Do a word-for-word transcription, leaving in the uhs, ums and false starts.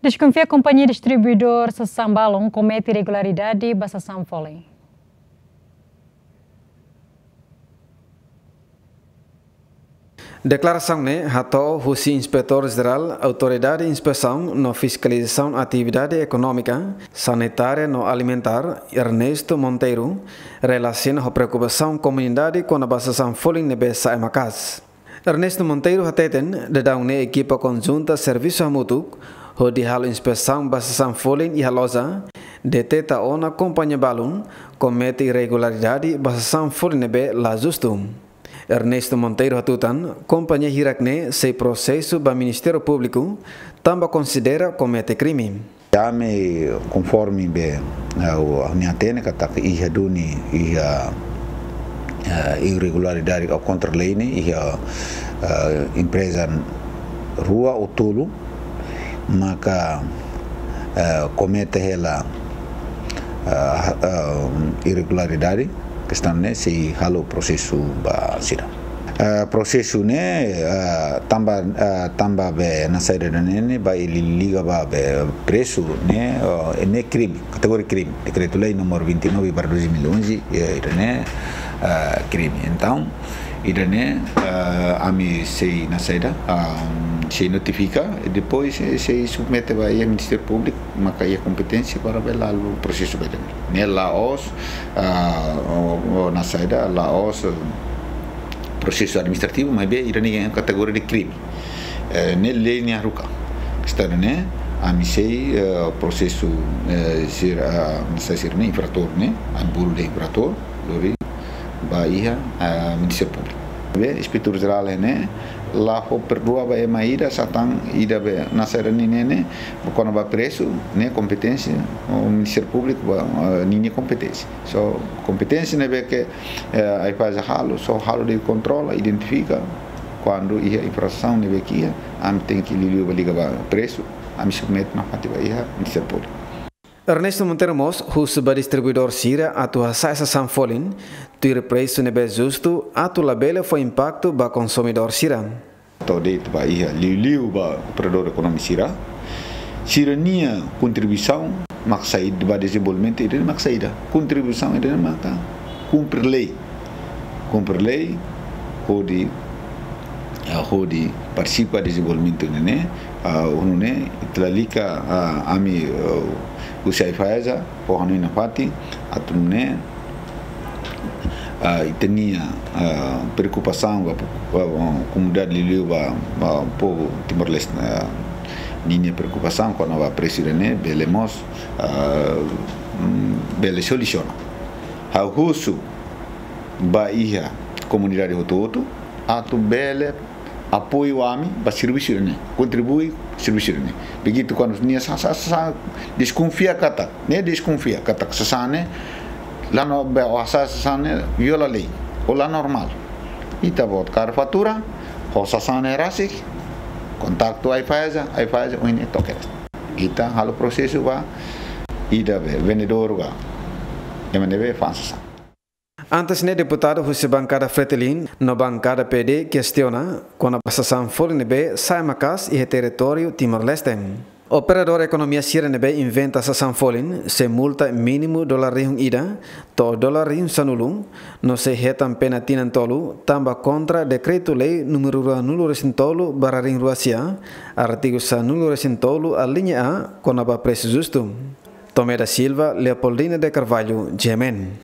Deskonfia kompañia distribuidór sasán balun komete irregularidade ba sasán folin. Deklarasaun ne'e hato'o husi Inspetór Jerál Autoridade Inspesaun no Fiskalizasaun Atividade Ekonómika, Sanitária no Alimentár, Ernesto Monteiro, relasiona ho preokupasaun komunidade kona-ba sasán folin ne'ebé sa'e maka'as. Ernesto Monteiro hateten, daudaun ne'e ekipa konjunta servisu hamutuk hodi halo inspesaun ba sasán folin iha loja, deteta ona kompañia balun komete irregularidade ba sasán folin ne'ebé la justu. Ernesto Monteiro hatutan, kompañia hirak ne'e sei prosesu ba Ministériu Públiku, tanba konsidera komete krime. Ami konforme be, eh, o, ami hatene katak iha duni, iha, eh, irregularidade ka kontra lei ne'e, iha, eh, empreza rua ou tolu, maka, eh, komete hela, eh, eh, irregularidade, kestaun ne'e sei halo prosesu ba sira. Eh, prosesu ne'e, eh, tanba, eh, tanba be nasaida ne'e, ne'e ba liga ba be presu ne'e, eh, ne'e krime, kategoria krime. Dekretu-Lei número vinte e nove barra dois mil e onze, eh, ida-ne'e, eh, krime. Entaun, ida-ne'e, eh, ami sei nasaida, ah, sei notifika, e depois sei, sei submete ba iha Ministériu Públiku, maka iha kompeténsia para be halo prosesu ba ida-ne'e. Ne'e la'ós, ah, o, o nasaida, la'ós, eh, prosesu administrativu, maibé ida-ne'e kategoria de krime. Eh, ne'e lei nia haruka. Kestaun ne'e, ami sei, eh, prosesu, eh, sira, ah, nasaida sira-ne'e, infratór ne'e, ami bolu dehan infratór, lori ba iha, ah, Ministériu Públiku. Be, Inspetór Jerál ne'e la fó perdua ba ema ida, sasán ida be nasaida ne'e, ne'e, ne'e, kona-ba presu, ne'e kompeténsia, o Ministériu Públiku ba, ah, ninia kompeténsia. Só kompeténsia ne'ebé ke, eh, AIFAESA halo, só halo de kontrola, identifika, kuandu iha infrasaun ne'ebé ke iha, ami tenke liuliu ba liga ba presu, ami submete nafatin ba iha Ministériu Públiku. Ernesto Monteiro mós husu ba distribuidór sira atu hasa'e sasán folin, tuir presu ne'ebé justu, atu labele fó impaktu ba konsumidór sira. To'o de'it ba iha liuliu ba operadór ekonomia sira. Sira-nia kontribuisaun mak saida ba dezenvolvimentu ida-ne'e mak saida. Kontribuisaun ida-ne'e maka kumpre lei. Kumpre lei, hodi, ah, hodi partisipa dezenvolvimentu ne'e, ah, nune'e, ita lalika, ah, ami, ah, husi AIFAESA, fó hanoin nafatin, atu nune'e, ah, ita-nia, ah, preokupasaun ba, ba, ba komunidade liuliu ba, ba povu Timor-Leste, ah, ninia preokupasaun kona-ba presu ida-ne'e, bele mós, ah, mm, bele solusiona. Ha'u husu ba iha komunidade hotu-hotu, atu bele apoiu ami ba servisu ne'e, kontribui servisu ne'e. Begitu kuandu nia sa, sa, sa, deskonfia katak, ne'e deskonfia katak sasán ne'e la no be, o hasa'e sasán ne'e viola lei, o la normál. Ita-boot kaer fatura, ho sasán ne'e rasik, kontaktu AIFAESA, AIFAESA ohin ne'e toke. Ita halo prosesu ba ida be vendedór ka ema ne'ebé fa'an sasán. Antes ne'e deputadu husi bankada Fretilin no bankada PD kestiona kona-ba sasán folin ne'ebé sa'e maka'as iha territóriu Timor-Leste. Operadór ekonomia sira ne'ebé inventa sasán folin sei multa mínimu dolar rihun ida to'o dolar rihun sanulu, no sei hetan pena tinan tolu tanba kontra Dekretu-Lei númeru ruanulu-resin-tolu barra rihun rua sia, artigu sanulu-resin-tolu alínea A, kona-ba presu justu. Tomé da Silva, Leopoldina de Carvalho, GMN.